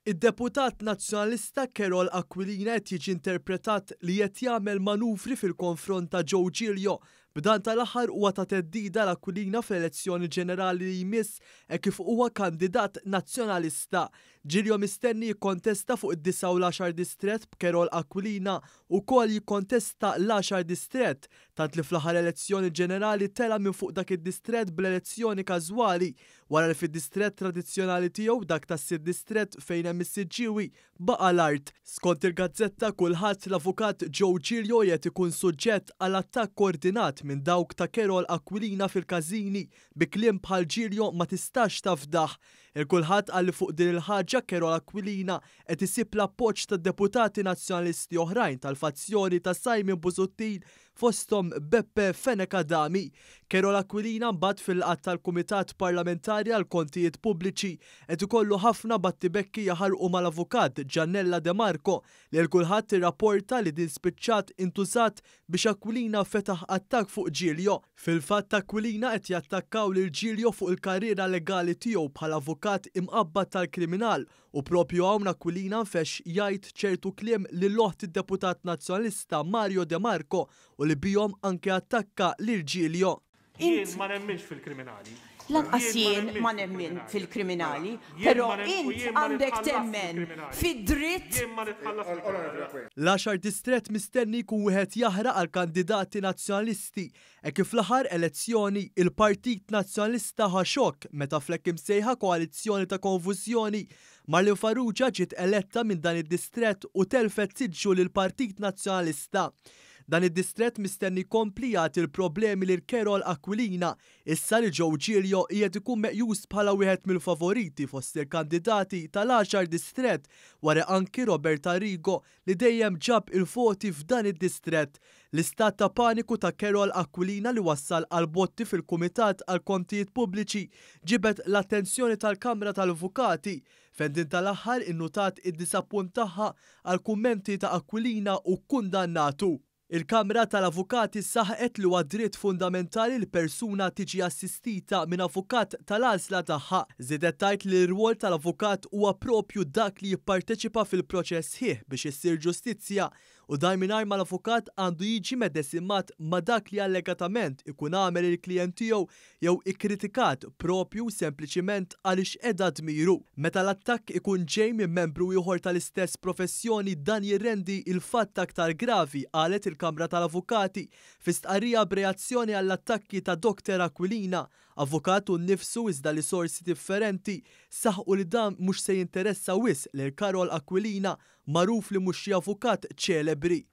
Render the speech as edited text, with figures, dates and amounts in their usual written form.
Id-deputat Nazzjonalista Karol Aquilina qed jiġi interpretat li qed jagħmel manuvri fil-konfront ta' Joe Giglio. B'dan tal-aħħar huwa ta' theddida l Aquilina fl-elezzjoni ġenerali li jmiss hekk kif huwa kandidat Nazzjonalista. Giglio mistenni jikkontesta fuq id-9 u l-10 distrett, b'Karol Aquilina wkoll jikkontesta l-10 distrett, tant li fl-aħħar elezzjoni ġenerali tela' minn fuq dak id-distrett bl-elezzjoni każwali wara li fid-distrett tradizzjonali tiegħu, dak tas-sitt distrett fejn hemm is-Siġġiewi, baqa' l-art. Skont il-gazzetta Kullħadd, l-avukat Joe Giglio qiegħed ikun suġġett għal attakk koordinat minn dawk ta' Karol Aquilina fil-każini bi kliem bħal "Giglio ma tistax tafdah". Il-Kullħadd qal li fuq din il-ħaġa Karol Aquilina qed isib l-appoġġ ta' deputati Nazzjonalisti oħrajn tal-fazzjoni ta' Simon Busuttil, fosthom Beppe Fenech Adami. Karol Aquilina mbagħad fil-laqgħat tal-Kumitat Parlamentari għall-Kontijiet Pubbliċi qed ikollu ħafna battibekki jaħarqu mal-avukat Giannella De Marco, li 'l kulħadd irrapporta li din spiċċat intużat biex Aquilina fetaħ attakk fuq Giglio. Fil-fatt Aquilina qed jattakkaw lil Giglio fuq il-karriera legali tiegħu bħala avukat imqabbad tal-kriminal, u propju hawn Aquilina nfexx jgħid ċertu kliem lil oħt id-deputat Nazzjonalista Mario De Marco u li bihom anke attakka lil Giglio. Jien ma nemminx fil-kriminali. Lanqas jien ma nemmen fil-kriminali, però int għandek temmen fid-dritt. L-10 distrett mistenni jkun wieħed jaħraq għal kandidati Nazzjonalisti hekk kif fl-aħħar elezzjoni il-Partit Nazzjonalista ħa xokk meta fl-hekk imsejħa koalizzjoni ta' konfużjoni Marlene Farrugia ġiet eletta minn dan id-distrett u telfet siġġu lill-Partit Nazzjonalista. Dan id-distrett mistenni jkompli jagħti l-problemi lil Karol Aquilina issa li Joe Giglio qiegħed ikun meqjus bħala wieħed mill-favoriti fost il-kandidati tal-10 distrett wara anki Robert Arrigo li dejjem ġab il-voti f'dan id-distrett. L-istat ta' paniku ta' Karol Aquilina li wassal għal botti fil-Kumitat għal Kontijiet Pubbliċi ġibed l-attenzjoni tal-Kamra tal-Avukati, fejn din tal-aħħar innutat id-disappunt tagħha għal kummenti ta' Aquilina u kkundannatu. Il-Kamra tal-Avukati saħqet li huwa dritt fundamentali li persuna tiġi assistita minn avukat tal-għażla tagħha. Żiedet tgħid li l-rwol tal-avukat huwa propju dak li jipparteċipa fil-proċess sħiħ biex issir ġustizzja, u dan mingħajr ma l-avukat għandu jiġi medesimat ma' dak li allegatament ikun għamel il-klijent tiegħu jew ikkritikat propju sempliċiment għaliex qeda dmiru. Meta l-attakk ikun ġej minn membru ieħor tal-istess professjoni, dan jirrendi il-fatt aktar gravi, qalet il-Kamra tal-Avukati fi stqarrija b'reazzjoni għall-attakki ta' Dr. Aquilina, avukat hu nnifsu iżda li sorsi differenti saħqu li dan mhux se jinteressa wisq lil Karol Aquilina, magħruf li mhux xi avukat ċelebri.